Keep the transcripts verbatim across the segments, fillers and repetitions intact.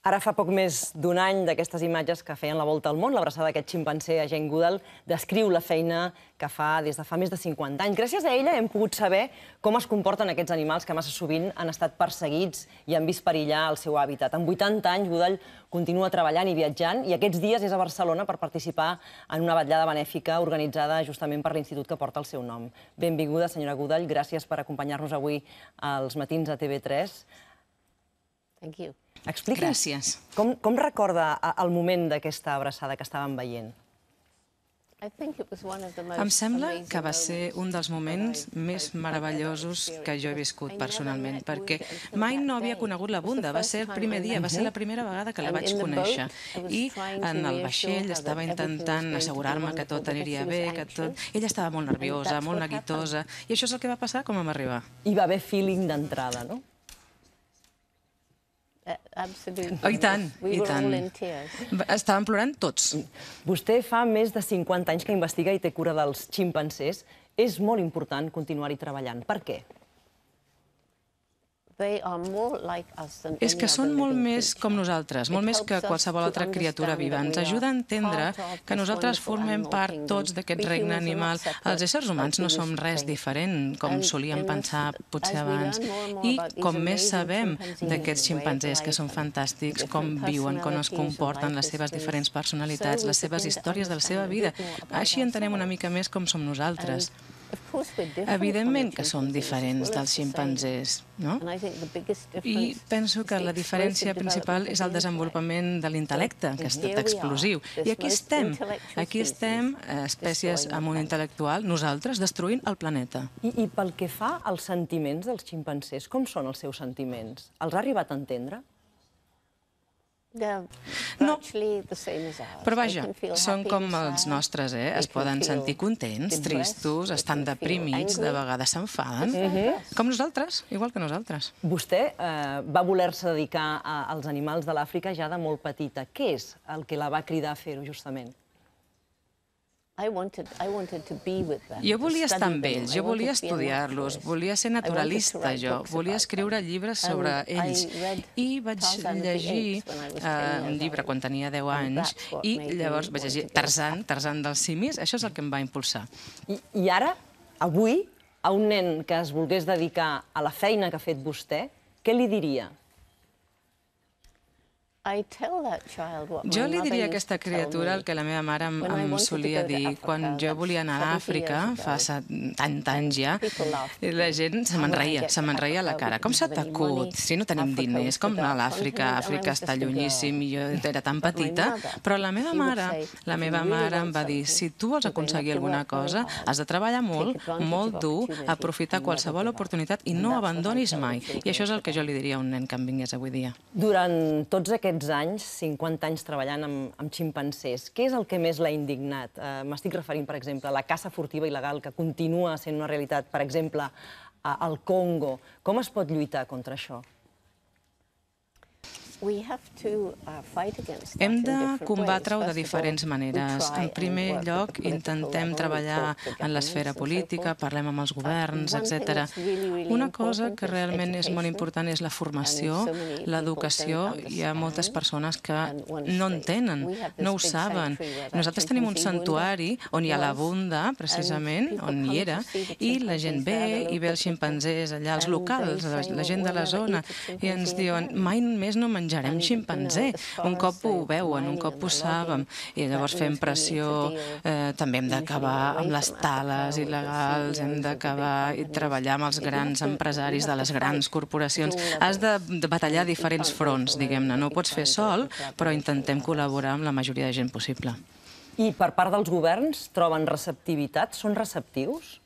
Ara fa poc més d'un any d'aquestes imatges que feien la volta al món, l'abraçada d'aquest ximpanzé a Jane Goodall descriu la feina que fa des de fa més de cinquanta anys. Gràcies a ella hem pogut saber com es comporten aquests animals que massa sovint han estat perseguits i han vist perillar el seu hàbitat. Amb vuitanta anys, Goodall continua treballant i viatjant i aquests dies és a Barcelona per participar en una vetllada benèfica organitzada justament per l'institut que porta el seu nom. Benvinguda, senyora Goodall. Gràcies per acompanyar-nos avui als matins a T V tres. Thank you. Expliqui'ns Gràcies. com, com recorda el moment d'aquesta abraçada que estàvem veient? Em sembla que va ser un dels moments més meravellosos que jo he viscut personalment, perquè mai no havia conegut la Bunda. Va ser el primer dia, va ser la primera vegada que la vaig conèixer. I en el vaixell estava intentant assegurar-me que tot aniria bé, que tot... Ella estava molt nerviosa, molt neguitosa, i això és el que va passar quan vam arribar. Hi va haver feeling d'entrada, no? Oh, i tant, i tant. Estàvem plorant tots. Vostè fa més de cinquanta anys que investiga i té cura dels ximpanzés. És molt important continuar-hi treballant. Per què? És que són molt més com nosaltres, molt més que qualsevol altra criatura viva. Ens ajuda a entendre que nosaltres formem part tots d'aquest regne animal. Els éssers humans no som res diferent, com solíem pensar potser abans. I com més sabem d'aquests ximpanzés, que són fantàstics, com viuen, com es comporten, les seves diferents personalitats, les seves històries de la seva vida, així entenem una mica més com som nosaltres. Evidentment que som diferents dels ximpanzés, no? I penso que la diferència principal és el desenvolupament de l'intel·lecte, que ha estat explosiu. I aquí estem, aquí estem, espècies amb un intel·lectual, nosaltres, destruint el planeta. I, I pel que fa als sentiments dels ximpanzés, com són els seus sentiments? Els ha arribat a entendre? No, però vaja, són com els nostres, eh? Es poden sentir contents, tristos, estan deprimits, de vegades s'enfaden, com nosaltres, igual que nosaltres. Vostè va voler-se dedicar als animals de l'Àfrica ja de molt petita. Què és el que la va cridar a fer-ho, justament? Jo volia estar amb ells, jo volia estudiar-los, volia ser naturalista, jo, volia escriure llibres sobre ells. I vaig llegir un llibre quan tenia deu anys i llavors vaig llegir Tarzan, Tarzan dels simis, això és el que em va impulsar. I ara, avui, a un nen que es volgués dedicar a la feina que ha fet vostè, què li diria? Jo li diria a aquesta criatura el que la meva mare em solia dir. Quan jo volia anar a l'Àfrica, fa setanta anys ja, la gent se me'n reia, se me'n reia a la cara. Com s'ha t'acut? Si no tenim diners, com anar a l'Àfrica? Àfrica està llunyíssim i jo era tan petita. Però la meva mare, la meva mare em va dir, si tu vols aconseguir alguna cosa, has de treballar molt, molt dur, aprofitar qualsevol oportunitat i no abandonis mai. I això és el que jo li diria a un nen que em vingués avui dia. Durant tots aquests anys, cinquanta anys treballant amb ximpanzés, què és el que més l'ha indignat? M'estic referint, per exemple, a la caça furtiva il·legal que continua sent una realitat, per exemple, al Congo. Com es pot lluitar contra això? Hem de combatre-ho de diferents maneres. En primer lloc, intentem treballar en l'esfera política, parlem amb els governs, etcètera. Una cosa que realment és molt important és la formació, l'educació. Hi ha moltes persones que no en tenen, no ho saben. Nosaltres tenim un santuari on hi ha la Bunda, precisament, on hi era, i la gent ve i ve els ximpanzés allà, els locals, la gent de la zona, i ens diuen, mai més no menjarem menjarem ximpanzé. Un cop ho veuen, un cop ho saben. I llavors fem pressió. També hem d'acabar amb les tales il·legals, hem d'acabar i treballar amb els grans empresaris de les grans corporacions. Has de batallar diferents fronts, diguem-ne. No ho pots fer sol, però intentem col·laborar amb la majoria de gent possible. I per part dels governs troben receptivitat? Són receptius?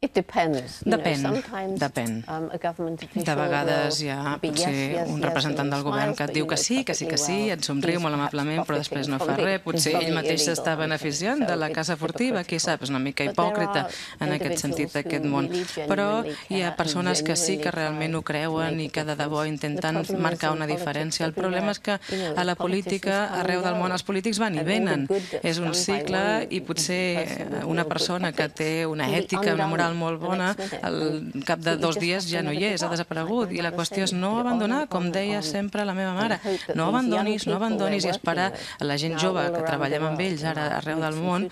Depèn, depèn. De vegades hi ha potser un representant del govern que et diu que sí, que sí, que sí, et somriu molt amablement, però després no fa res. Potser ell mateix s'està beneficiant de la caça furtiva, qui sap, és una mica hipòcrita en aquest sentit d'aquest món. Però hi ha persones que sí que realment ho creuen i que de debò intenten marcar una diferència. El problema és que a la política, arreu del món, els polítics van i venen. És un cicle i potser una persona que té una ètica, una moral molt bona, al cap de dos dies ja no hi és, ha desaparegut. I la qüestió és no abandonar, com deia sempre la meva mare, no abandonis, no abandonis i esperar a la gent jove que treballem amb ells ara arreu del món,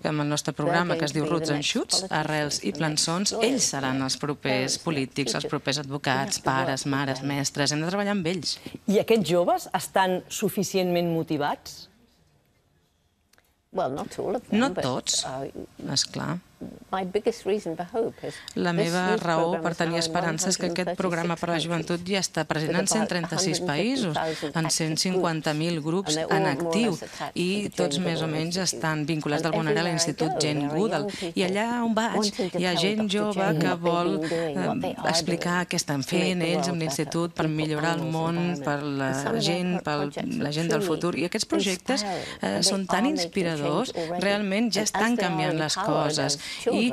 amb el nostre programa que es diu Roots and Shoots, Arrels i Plançons, ells seran els propers polítics, els propers advocats, pares, mares, mestres, hem de treballar amb ells. I aquests joves estan suficientment motivats? No tots, esclar. La meva raó per tenir esperança és que aquest programa per a la joventut ja està present en cent trenta-sis països, en cent cinquanta mil grups en actiu, i tots més o menys estan vinculats d'alguna manera a l'Institut Jane Goodall. I allà on vaig hi ha gent jove que vol explicar què estan fent ells amb l'Institut per millorar el món, per la gent, per la gent del futur. I aquests projectes són tan inspiradors, realment ja estan canviant les coses. I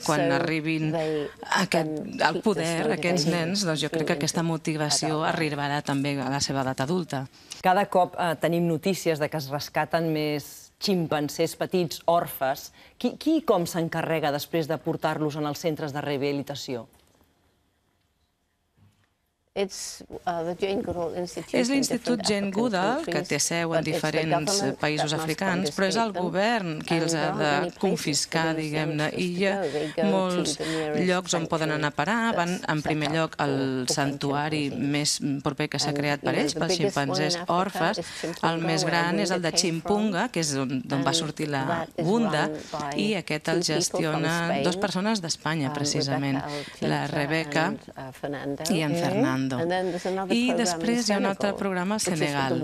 quan arribin al poder aquests nens, doncs jo crec que aquesta motivació arribarà també a la seva edat adulta. Cada cop tenim notícies de que es rescaten més ximpancers petits, orfes. Qui i com s'encarrega després de portar-los en els centres de rehabilitació? És l'Institut Jane Goodall, que té seu en diferents països africans, però és el govern qui els ha de confiscar, diguem-ne, i hi ha molts llocs on poden anar a parar. Van, en primer lloc, al santuari més proper que s'ha creat per ells, pels ximpanzés orfes. El més gran és el de Chimpunga, que és d'on va sortir la Bunda, i aquest el gestiona dues persones d'Espanya, precisament, la Rebeca i en Fernando. I després hi ha un altre programa al Senegal,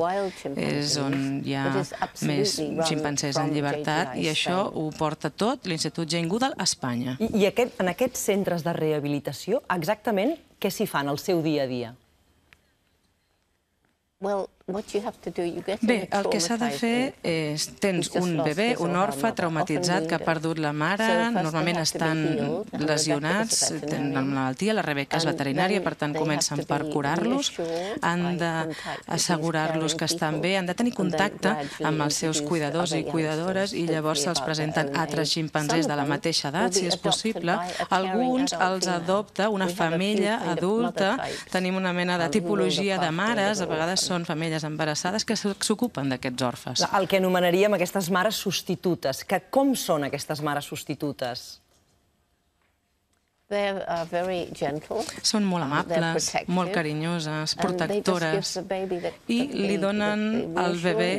és on hi ha més ximpancers en llibertat, i això ho porta tot l'Institut Jane Goodall a Espanya. I en aquests centres de rehabilitació, exactament què s'hi fan al seu dia a dia? Bé, el que s'ha de fer és, tens un bebè, un orfe traumatitzat que ha perdut la mare, normalment estan lesionats, tenen una malaltia, la Rebeca és veterinària, per tant comencen per curar-los, han d'assegurar-los que estan bé, han de tenir contacte amb els seus cuidadors i cuidadores i llavors se'ls presenten altres ximpanzés de la mateixa edat, si és possible. Alguns els adopta una femella adulta, tenim una mena de tipologia de mares, a vegades són famílies embarassades que s'ocupen d'aquests orfes. El que anomenaríem aquestes mares substitutes. Com són aquestes mares substitutes? Són molt amables, molt carinyoses, protectores, i li donen al bebè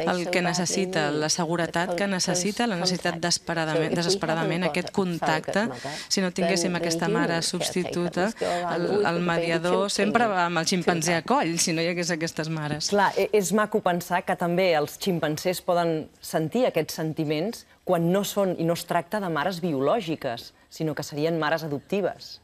el que necessita, la seguretat que necessita, la necessitat desesperadament aquest contacte. Si no tinguéssim aquesta mare substituta, el mediador sempre va amb el ximpanzé a coll, si no hi hagués aquestes mares. Clar, és maco pensar que també els ximpancers poden sentir aquests sentiments quan no són i no es tracta de mares biològiques, sinó que serien mares adoptives.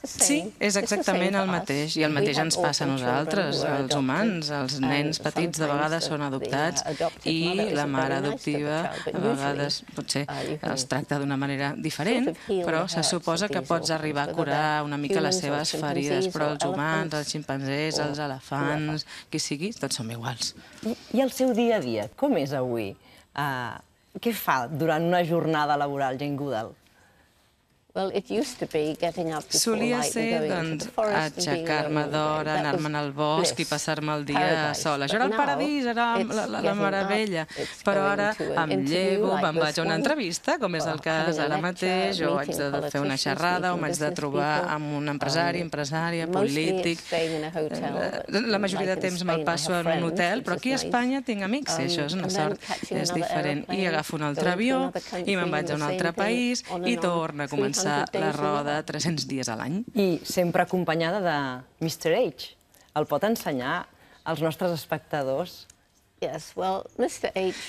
Sí, és exactament el mateix, i el mateix ens passa a nosaltres, els humans. Els nens petits de vegades són adoptats i la mare adoptiva a vegades potser els tracta d'una manera diferent, però se suposa que pots arribar a curar una mica les seves ferides, però els humans, els ximpanzés, els elefants, qui sigui, tots som iguals. I el seu dia a dia, com és avui? Què fa durant una jornada laboral, Jane Goodall? Solia ser, doncs, aixecar-me d'hora, anar-me'n al bosc i passar-me el dia sola. Això era el paradís, era la meravella. Però ara em llevo, me'n vaig a una entrevista, com és el cas ara mateix, o haig de fer una xerrada, o m'haig de trobar amb un empresari, empresària, polític. La majoria de temps me'l passo en un hotel, però aquí a Espanya tinc amics, i això és una sort, és diferent. I agafo un altre avió, i me'n vaig a un altre país, i torno a començar la roda tres-cents dies a l'any. I sempre acompanyada de mister H. El pot ensenyar als nostres espectadors?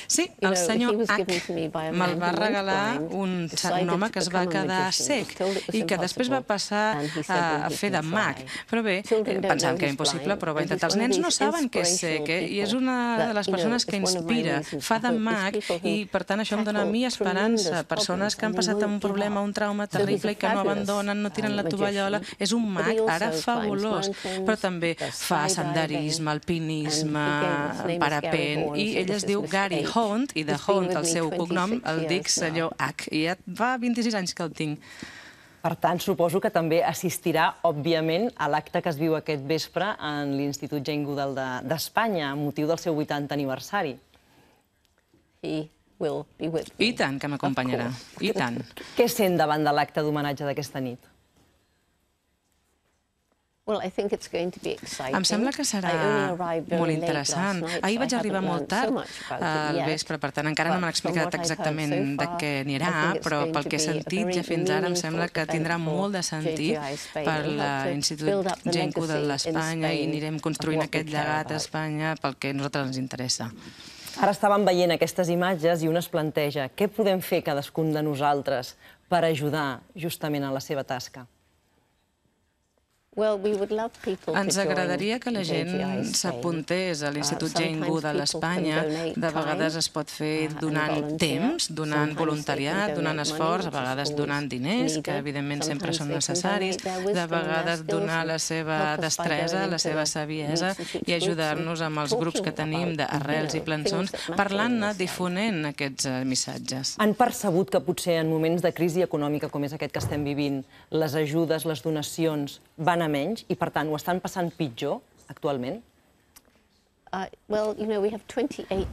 Sí, el senyor H me'l va regalar un home que es va quedar cec i que després va passar a fer de mag. Però bé, pensant que era impossible, però va intentar. Els nens no saben que és cec, i és una de les persones que inspira. Fa de mag i, per tant, això em dona a mi esperança. Persones que han passat un problema, un trauma terrible i que no abandonen, no tiren la tovallola. És un mag ara fabulós, però també fa senderisme, alpinisme, parapent, Jane, i ell es diu Gary Hunt, i de Hunt, el seu cognom, el dic senyor H, i ja fa vint-i-sis anys que el tinc. Per tant, suposo que també assistirà, òbviament, a l'acte que es viu aquest vespre en l'Institut Jane Goodall d'Espanya, amb motiu del seu vuitantè aniversari. I tant que m'acompanyarà, i tant. Què sent davant de l'acte d'homenatge d'aquesta nit? Em sembla que serà molt interessant. Ahir vaig arribar molt tard al vespre, per tant, encara no m'han explicat exactament de què anirà, però pel que he sentit ja fins ara em sembla que tindrà molt de sentit per l'Institut Jane Goodall d'Espanya i anirem construint aquest llegat a Espanya pel que a nosaltres ens interessa. Ara estàvem veient aquestes imatges i un es planteja què podem fer cadascun de nosaltres per ajudar justament en la seva tasca. Ens agradaria que la gent s'apuntés a l'Institut Jane Goodall a Espanya. De vegades es pot fer donant temps, donant voluntariat, donant esforç, a vegades donant diners, que evidentment sempre són necessaris, de vegades donar la seva destresa, la seva saviesa i ajudar-nos amb els grups que tenim d'arrels i plançons, parlant-ne, difonent aquests missatges. Han percebut que potser en moments de crisi econòmica com és aquest que estem vivint, les ajudes, les donacions van a menys i, per tant, ho estan passant pitjor actualment?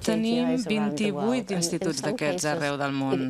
Tenim vint-i-vuit instituts d'aquests arreu del món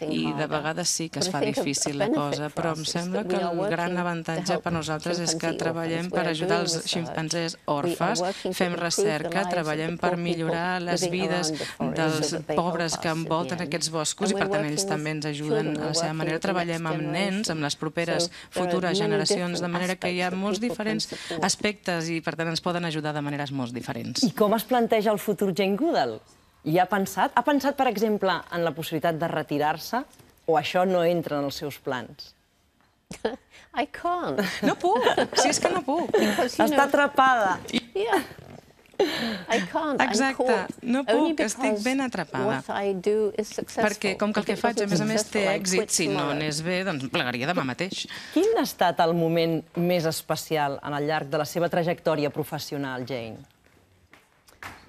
i de vegades sí que es fa difícil la cosa, però em sembla que el gran avantatge per nosaltres és que treballem per ajudar els ximpanzés orfes, fem recerca, treballem per millorar les vides dels pobres que envolten aquests boscos i per tant ells també ens ajuden a la seva manera. Treballem amb nens, amb les properes futures generacions, de manera que hi ha molts diferents aspectes i per tant ens poden ajudar de maneres molt diferents. I com es planteja el futur Jane Goodall? Hi ha pensat? Ha pensat, per exemple, en la possibilitat de retirar-se? O això no entra en els seus plans? No puc, si és que no puc. Està atrapada. Exacte, no puc, estic ben atrapada. Perquè com que el que faig, a més a més, té èxit, si no anés bé, doncs plegaria demà mateix. Quin ha estat el moment més especial en el llarg de la seva trajectòria professional, Jane?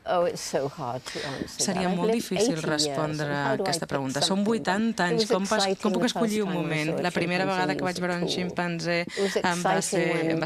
Seria molt difícil respondre a aquesta pregunta. Són vuitanta anys, com puc escollir un moment? La primera vegada que vaig veure un ximpanzé em va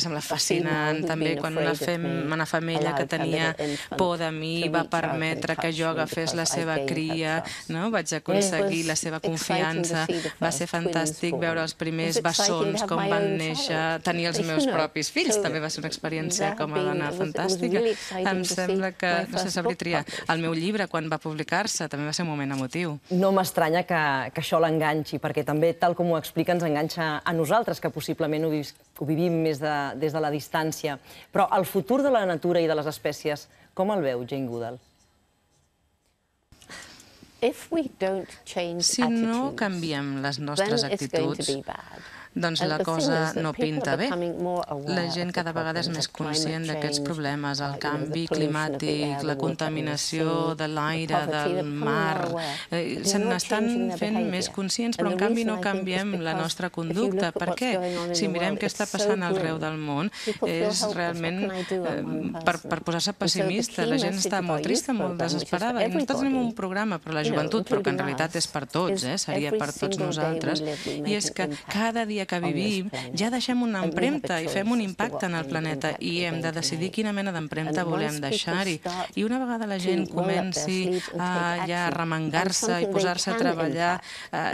semblar fascinant. També quan una femella que tenia por de mi va permetre que jo agafés la seva cria, vaig aconseguir la seva confiança. Va ser fantàstic veure els primers bessons, com van néixer, tenir els meus propis fills. També va ser una experiència com a dona fantàstica. Em sembla que, no sé, sabria triar. El meu llibre, quan va publicar-se, també va ser un moment emotiu. No m'estranya que això l'enganxi, perquè també, tal com ho explica, ens enganxa a nosaltres, que possiblement ho vivim més des de la distància. Però el futur de la natura i de les espècies, com el veu Jane Goodall? Si no canviem les nostres actituds, doncs la cosa no pinta bé. La gent cada vegada és més conscient d'aquests problemes, el canvi climàtic, la contaminació de l'aire, del mar. Se n'estan fent més conscients, però en canvi no canviem la nostra conducta. Per què? Si mirem què està passant arreu del món, és realment per posar-se pessimista. La gent està molt trista, molt desesperada. I nosaltres tenim un programa per la joventut, però que en realitat és per tots, seria per tots nosaltres. I és que cada dia que vivim, ja deixem una empremta i fem un impacte en el planeta i hem de decidir quina mena d'empremta volem deixar-hi. I una vegada la gent comenci a ja remengar-se i posar-se a treballar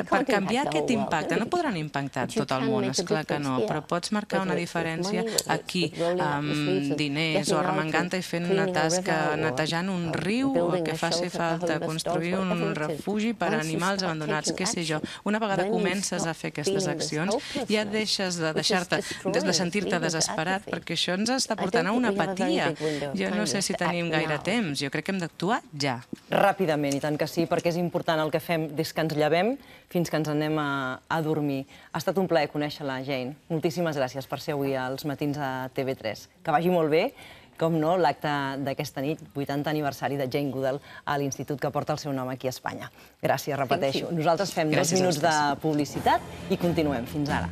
per canviar aquest impacte, no podran impactar tot el món, esclar que no, però pots marcar una diferència aquí, amb diners o remengant-te i fent una tasca, netejant un riu o que faci falta, construir un refugi per a animals abandonats, què sé jo. Una vegada comences a fer aquestes accions, ja deixes de deixar-te, de sentir-te desesperat, perquè això ens està portant a una apatia. Jo no sé si tenim gaire temps, jo crec que hem d'actuar ja. Ràpidament, i tant que sí, perquè és important el que fem des que ens llevem fins que ens anem a dormir. Ha estat un plaer conèixer-la, Jane. Moltíssimes gràcies per ser avui als matins a T V tres. Que vagi molt bé, com no, l'acte d'aquesta nit, vuitantè aniversari de Jane Goodall a l'institut que porta el seu nom aquí a Espanya. Gràcies, repeteixo. Nosaltres fem dos minuts de publicitat i continuem. Fins ara.